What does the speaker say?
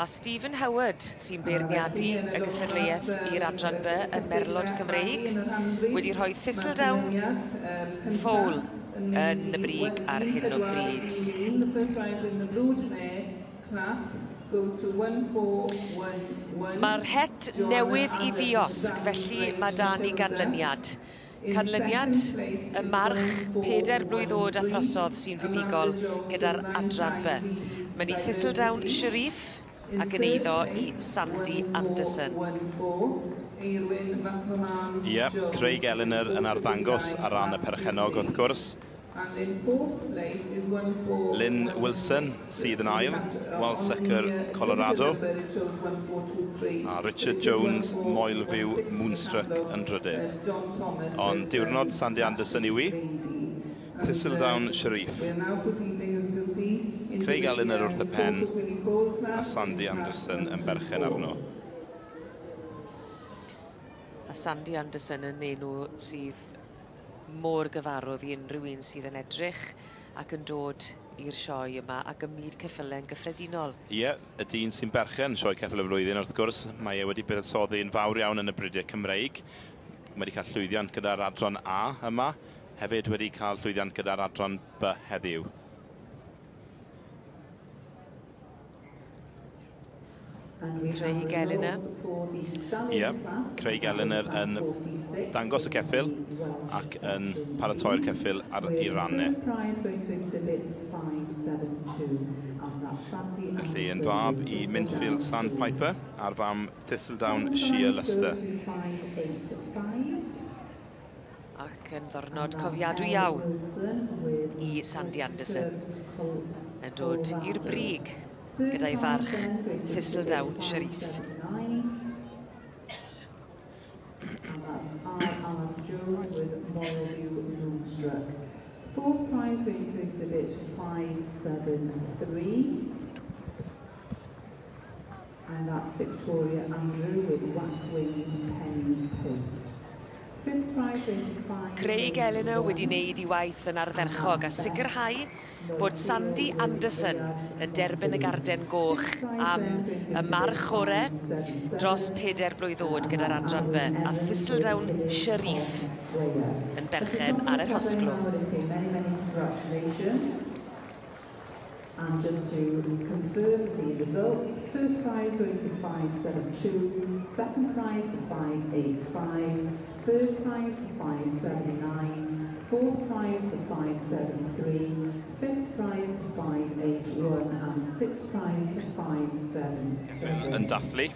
Mae Stephen Howard, sy'n beirniadu y gystadleuaeth i'r adran B y Merlod Cymreig, wedi rhoi Thistledown Foal yn y brig ar hyn o bryd. Mae'r het newydd i ddiosg, felly mae da ni ganlyniad. Canlyniad y march 4 blwydd oed a throsodd sy'n fuddugol gyda'r adran B. Mae'n i Thistledown Sharif ac yn eiddo i Sandy Anderson. Ie, yeah, Craig Eleanor yn arddangos ar ran y perchennog wrth gwrs. Lynn Wilson sydd yn ail, Walsecker Colorado, a Richard Jones Moelfyw Moonstruck yn drydydd. Ond diwrnod Sandy Anderson yw i, Thistledown Sharif. Craig Eleanor wrth y pen a Sandy Anderson yn berchen arno. A Sandy Anderson yn enw sydd mor gyfarwydd i unrhyw un sydd yn edrych ac yn dod i'r sioe yma ac ym myd ceffylau yn gyffredinol. Ie, yeah, y dyn sy'n berchen sioe ceffyl y flwyddyn wrth gwrs, mae e wedi buddsoddi'n fawr iawn yn y bridiau Cymreig. Mae wedi cael llwyddiant gyda'r adran A yma, hefyd wedi cael llwyddiant gyda'r adran B heddiw. Craig Eleanor. Ie, yeah, Craig Eleanor yn dangos y ceffyl ac yn paratoi'r ceffyl ar ei rannau. Felly yn fab i Mintfield Sandpiper a'r fam Thistledown Sheer Luster. Ac yn ddwrnod cofiadwy iawn i Sandy Anderson yn dod i'r brig gyda'i farch Thistledown Sharif. Fourth prize going to exhibit 573. And that's Victoria Andrew with Wax Wings Penny Post. Craig Eleanor wedi wneud i waith yn ardderchog a sicrhau bod Sandy Anderson yn derbyn y garden goch am y march orau dros 4 blwydd oed gyda'r adran B a Thistledown Sharif yn berchen ar yr hosglwm. And just to confirm the results, first prize going to 572, second prize to 585, third prize to 579, fourth prize to 573, fifth prize to 581, and sixth prize to 577. Yn dathlu